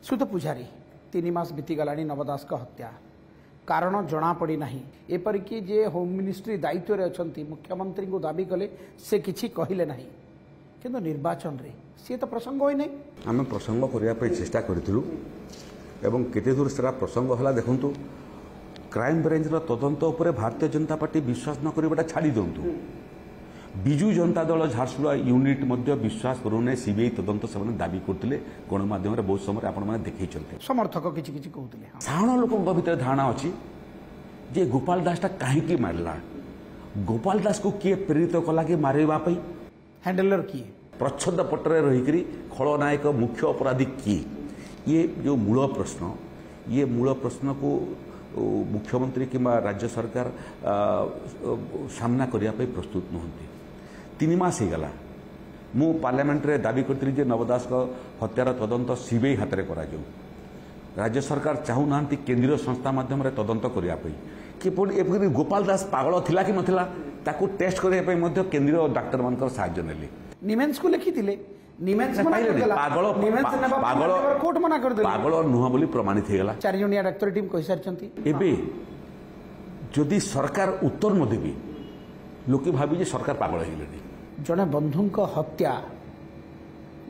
ସୁତ ପୂଜାରୀ, 3 ମାସ ବିତିଗଲାଣି ନବ ଦାସଙ୍କ ହତ୍ୟା, କାରଣ ଜଣାପଡ଼ି ନାହିଁ। ଏପରିକି ଯେ ହୋମ୍ ମିନିଷ୍ଟ୍ରି ଦାୟିତ୍ୱରେ ଅଛନ୍ତି, ମୁଖ୍ୟମନ୍ତ୍ରୀଙ୍କୁ ଦାବି କଲେ ସେ କିଛି କହିଲେ ନାହିଁ। କିନ୍ତୁ ନିର୍ବାଚନରେ ସିଏ ତ ପ୍ରସଙ୍ଗ ହୋଇନାହିଁ। ଆମେ ପ୍ରସଙ୍ଗ କରିବା ପାଇଁ ଚେଷ୍ଟା କରିଥିଲୁ ଏବଂ କେତେ ଦୂର ସେଟା ପ୍ରସଙ୍ଗ ହେଲା ଦେଖନ୍ତୁ। କ୍ରାଇମବ୍ରାଞ୍ଚର ତଦନ୍ତ ଉପରେ ଭାରତୀୟ ଜନତା ପାର୍ଟି ବିଶ୍ୱାସ ନ କରିବାଟା ଛାଡ଼ି ଦିଅନ୍ତୁ, ବିଜୁ ଜନତା ଦଳ ଝାରସୁଗୁଡ଼ା ୟୁନିଟ୍ ମଧ୍ୟ ବିଶ୍ୱାସ କରୁନାହିଁ। ସିବିଆଇ ତଦନ୍ତ ସେମାନେ ଦାବି କରୁଥିଲେ, ଗଣମାଧ୍ୟମରେ ବହୁତ ସମୟରେ ଆପଣମାନେ ଦେଖେଇଛନ୍ତି। ସମର୍ଥକ କିଛି କିଛି କହୁଥିଲେ। ସାଧାରଣ ଲୋକଙ୍କ ଭିତରେ ଧାରଣା ଅଛି ଯେ ଗୋପାଳ ଦାସଟା କାହିଁକି ମାରିଲା, ଗୋପାଳ ଦାସକୁ କିଏ ପ୍ରେରିତ କଲା କି ମାରିବା ପାଇଁ, ହ୍ୟାଣ୍ଡେଲର କିଏ, ପ୍ରଚ୍ଛଦ ପଟରେ ରହିକରି ଖଳନାୟକ ମୁଖ୍ୟ ଅପରାଧୀ କିଏ। ଇଏ ଯେଉଁ ମୂଳ ପ୍ରଶ୍ନ, ଇଏ ମୂଳ ପ୍ରଶ୍ନକୁ ମୁଖ୍ୟମନ୍ତ୍ରୀ କିମ୍ବା ରାଜ୍ୟ ସରକାର ସାମ୍ନା କରିବା ପାଇଁ ପ୍ରସ୍ତୁତ ନୁହନ୍ତି। 3 ମାସ ହେଇଗଲା। ମୁଁ ପାର୍ଲାମେଣ୍ଟରେ ଦାବି କରିଥିଲି ଯେ ନବ ଦାସଙ୍କ ହତ୍ୟାର ତଦନ୍ତ ସିବିଆଇ ହାତରେ କରାଯାଉ। ରାଜ୍ୟ ସରକାର ଚାହୁଁନାହାନ୍ତି କେନ୍ଦ୍ରୀୟ ସଂସ୍ଥା ମାଧ୍ୟମରେ ତଦନ୍ତ କରିବା ପାଇଁ। କିପରି ଏପରି ଗୋପାଳ ଦାସ ପାଗଳ ଥିଲା କି ନଥିଲା ତାକୁ ଟେଷ୍ଟ କରିବା ପାଇଁ ମଧ୍ୟ କେନ୍ଦ୍ରୀୟ ଡାକ୍ତରମାନଙ୍କର ସାହାଯ୍ୟ ନେଲେ। ନିମେନ୍ସକୁ ଲେଖିଥିଲେ, ପାଗଳ ନୁହଁ ବୋଲି ପ୍ରମାଣିତ ହେଇଗଲା। 4 ଜଣିଆ ଡାକ୍ତର ଟିମ୍ କହିସାରିଛନ୍ତି। ଏବେ ଯଦି ସରକାର ଉତ୍ତର ନ ଦେବେ, ଲୋକେ ଭାବି ଯେ ସରକାର ପାଗଳ ହେଇଗଲେଣି। ଜଣେ ବନ୍ଧୁଙ୍କ ହତ୍ୟା,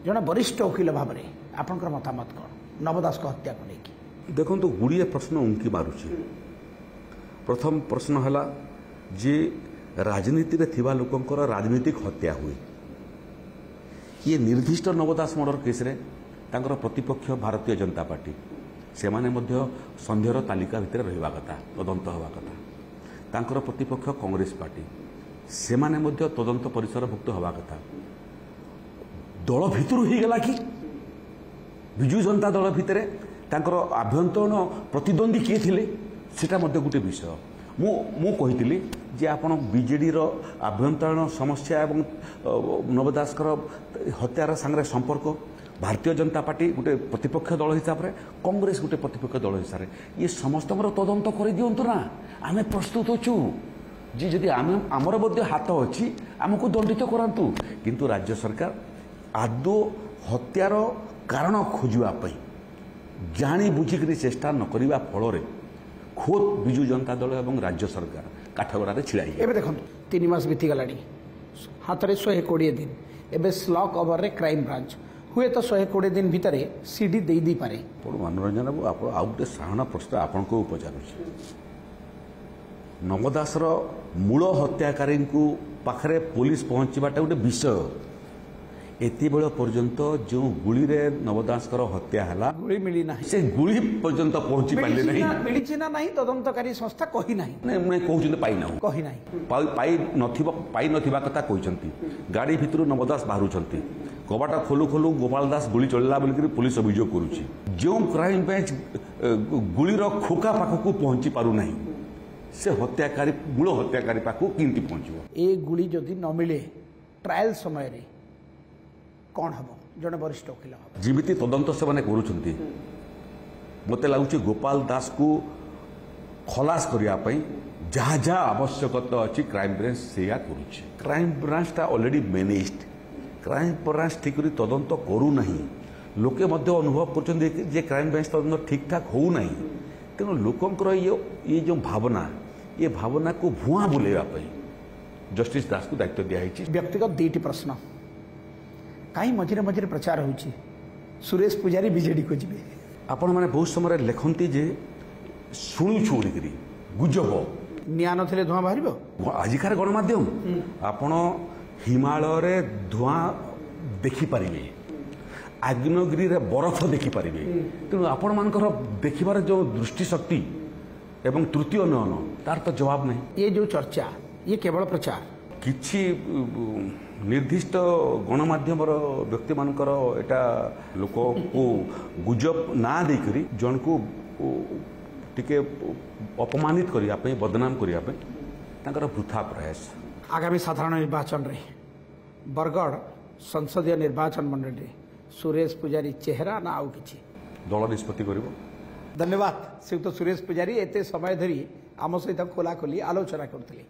ଜଣେ ବରିଷ୍ଠ ଓକିଲ ଭାବରେ ଆପଣଙ୍କର ମତାମତ କ'ଣ ନବ ଦାସଙ୍କ ହତ୍ୟାକୁ ନେଇକି? ଦେଖନ୍ତୁ, ଗୁଡ଼ିଏ ପ୍ରଶ୍ନ ଉଙ୍କି ମାରୁଛି। ପ୍ରଥମ ପ୍ରଶ୍ନ ହେଲା ଯେ ରାଜନୀତିରେ ଥିବା ଲୋକଙ୍କର ରାଜନୈତିକ ହତ୍ୟା ହୁଏ। ଇଏ ନିର୍ଦ୍ଦିଷ୍ଟ ନବ ଦାସ ମର୍ଡର କେସ୍ରେ ତାଙ୍କର ପ୍ରତିପକ୍ଷ ଭାରତୀୟ ଜନତା ପାର୍ଟି, ସେମାନେ ମଧ୍ୟ ସନ୍ଦେହର ତାଲିକା ଭିତରେ ରହିବା କଥା, ତଦନ୍ତ ହେବା କଥା। ତାଙ୍କର ପ୍ରତିପକ୍ଷ କଂଗ୍ରେସ ପାର୍ଟି, ସେମାନେ ମଧ୍ୟ ତଦନ୍ତ ପରିସରଭୁକ୍ତ ହେବା କଥା। ଦଳ ଭିତରୁ ହେଇଗଲା କି? ବିଜୁ ଜନତା ଦଳ ଭିତରେ ତାଙ୍କର ଆଭ୍ୟନ୍ତରୀଣ ପ୍ରତିଦ୍ୱନ୍ଦ୍ୱୀ କିଏ ଥିଲେ ସେଟା ମଧ୍ୟ ଗୋଟେ ବିଷୟ। ମୁଁ କହିଥିଲି ଯେ ଆପଣ ବିଜେଡ଼ିର ଆଭ୍ୟନ୍ତରୀଣ ସମସ୍ୟା ଏବଂ ନବ ଦାସଙ୍କର ହତ୍ୟାର ସାଙ୍ଗରେ ସମ୍ପର୍କ, ଭାରତୀୟ ଜନତା ପାର୍ଟି ଗୋଟେ ପ୍ରତିପକ୍ଷ ଦଳ ହିସାବରେ, କଂଗ୍ରେସ ଗୋଟେ ପ୍ରତିପକ୍ଷ ଦଳ ହିସାବରେ, ଇଏ ସମସ୍ତଙ୍କର ତଦନ୍ତ କରିଦିଅନ୍ତୁ ନା। ଆମେ ପ୍ରସ୍ତୁତ ଅଛୁ ଯେ ଯଦି ଆମେ ଆମର ମଧ୍ୟ ହାତ ଅଛି, ଆମକୁ ଦଣ୍ଡିତ କରାନ୍ତୁ। କିନ୍ତୁ ରାଜ୍ୟ ସରକାର ଆଦୌ ହତ୍ୟାର କାରଣ ଖୋଜିବା ପାଇଁ ଜାଣି ବୁଝିକରି ଚେଷ୍ଟା ନ କରିବା ଫଳରେ ଖୋଦ୍ ବିଜୁ ଜନତା ଦଳ ଏବଂ ରାଜ୍ୟ ସରକାର କାଠଗଡ଼ାରେ ଛିଡ଼ା ହେଇଗଲେ। ଏବେ ଦେଖନ୍ତୁ, 3 ମାସ ବିତିଗଲାଣି, ହାତରେ 120 ଦିନ। ଏବେ ସ୍ଲକ୍ ଓଭରରେ କ୍ରାଇମବ୍ରାଞ୍ଚ ହୁଏତ 120 ଦିନ ଭିତରେ ସିଡି ଦେଇଦେଇପାରେ। ଆପଣ ମନୋରଞ୍ଜନ ବାବୁ, ଆପଣ ଆଉ ଗୋଟେ ସାଧାରଣ ପ୍ରଶ୍ନ ଆପଣଙ୍କୁ ପଚାରୁଛି। ନବ ଦାସର ମୂଳ ହତ୍ୟାକାରୀଙ୍କୁ ପାଖରେ ପୋଲିସ ପହଞ୍ଚିବାଟା ଗୋଟେ ବିଷୟ। ଏତେବେଳ ପର୍ଯ୍ୟନ୍ତ ଯେଉଁ ଗୁଳିରେ ନବ ଦାସଙ୍କର ହତ୍ୟା ହେଲା, ଗୁଳି ମିଳିନାହିଁ, ସେ ଗୁଳି ପର୍ଯ୍ୟନ୍ତ ପହଞ୍ଚି ପାରିଲେ ନାହିଁ। ମିଳିଛି ନା ନାହିଁ ତଦନ୍ତକାରୀ ସଂସ୍ଥା କହିନାହିଁ। କହୁଛନ୍ତି ପାଇନାହୁଁ, କହିନାହିଁ, ପାଇନଥିବା କଥା କହିଛନ୍ତି। ଗାଡ଼ି ଭିତରୁ ନବ ଦାସ ବାହାରୁଛନ୍ତି, କବାଟ ଖୋଲୁ ଖୋଲୁ ଗୋପାଳ ଦାସ ଗୁଳି ଚଳିଲା ବୋଲିକରି ପୋଲିସ ଅଭିଯୋଗ କରୁଛି। ଯେଉଁ କ୍ରାଇମବ୍ରାଞ୍ଚ ଗୁଳିର ଖୋକା ପାଖକୁ ପହଞ୍ଚି ପାରୁନାହିଁ, ସେ ହତ୍ୟାକାରୀ ମୂଳ ହତ୍ୟାକାରୀ ପାଖକୁ କେମିତି ପହଞ୍ଚିବ? ଏ ଗୁଳି ଯଦି ନ ମିଳେ ଟ୍ରାଏଲ ସମୟରେ କ'ଣ ହେବ? ଜଣେ ବରିଷ୍ଠ ଓକିଲ ଯେମିତି ତଦନ୍ତ ସେମାନେ କରୁଛନ୍ତି, ମୋତେ ଲାଗୁଛି ଗୋପାଳ ଦାସକୁ ଖଲାସ କରିବା ପାଇଁ ଯାହା ଯାହା ଆବଶ୍ୟକତା ଅଛି କ୍ରାଇମବ୍ରାଞ୍ଚ ସେଇଆ କରୁଛି। କ୍ରାଇମବ୍ରାଞ୍ଚଟା ଅଲରେଡ଼ି ମ୍ୟାନେଜଡ୍। କ୍ରାଇମବ୍ରାଞ୍ଚ ଠିକ୍ କରି ତଦନ୍ତ କରୁନାହିଁ। ଲୋକେ ମଧ୍ୟ ଅନୁଭବ କରୁଛନ୍ତି ଯେ କ୍ରାଇମବ୍ରାଞ୍ଚ ତଦନ୍ତ ଠିକ୍ଠାକ୍ ହେଉନାହିଁ। ତେଣୁ ଲୋକଙ୍କର ଇଏ ଯେଉଁ ଭାବନା, ଏ ଭାବନାକୁ ଭୁଆଁ ବୁଲେଇବା ପାଇଁ ଜଷ୍ଟିସ୍ ଦାସକୁ ଦାୟିତ୍ୱ ଦିଆହେଇଛି। ବ୍ୟକ୍ତିଗତ 2ଟି ପ୍ରଶ୍ନ। କାହିଁ ମଝିରେ ମଝିରେ ପ୍ରଚାର ହେଉଛି ସୁରେଶ ପୂଜାରୀ ବିଜେଡ଼ିକୁ ଯିବେ? ଆପଣମାନେ ବହୁତ ସମୟରେ ଲେଖନ୍ତି ଯେ ଶୁଣୁଛୁ ବୋଲିକରି ଗୁଜବ। ନିଆଁ ନଥିଲେ ଧୂଆଁ ବାହାରିବ? ଆଜିକାର ଗଣମାଧ୍ୟମ, ଆପଣ ହିମାଳୟରେ ଧୂଆଁ ଦେଖିପାରିବେ, ଆଗ୍ନେୟଗିରିରେ ବରଫ ଦେଖିପାରିବେ। ତେଣୁ ଆପଣମାନଙ୍କର ଦେଖିବାର ଯେଉଁ ଦୃଷ୍ଟିଶକ୍ତି ଏବଂ ତୃତୀୟ ନୟନ, ତାର ତ ଜବାବ ନାହିଁ। ଇଏ ଯେଉଁ ଚର୍ଚ୍ଚା, ଇଏ କେବଳ ପ୍ରଚାର। କିଛି ନିର୍ଦ୍ଦିଷ୍ଟ ଗଣମାଧ୍ୟମର ବ୍ୟକ୍ତିମାନଙ୍କର ଏଇଟା ଲୋକକୁ ଗୁଜବ ନାଁ ଦେଇକରି ଜଣକୁ ଟିକେ ଅପମାନିତ କରିବା ପାଇଁ, ବଦନାମ କରିବା ପାଇଁ ତାଙ୍କର ବୃଥା ପ୍ରୟାସ। ଆଗାମୀ ସାଧାରଣ ନିର୍ବାଚନରେ ବରଗଡ଼ ସଂସଦୀୟ ନିର୍ବାଚନ ମଣ୍ଡଳୀରେ ସୁରେଶ ପୂଜାରୀ ଚେହେରା ନା ଆଉ କିଛି? ଦଳ ନିଷ୍ପତ୍ତି କରିବ। ଧନ୍ୟବାଦ ଶ୍ରୀଯୁକ୍ତ ସୁରେଶ ପୂଜାରୀ, ଏତେ ସମୟ ଧରି ଆମ ସହିତ ଖୋଲାଖୋଲି ଆଲୋଚନା କରୁଥିଲେ।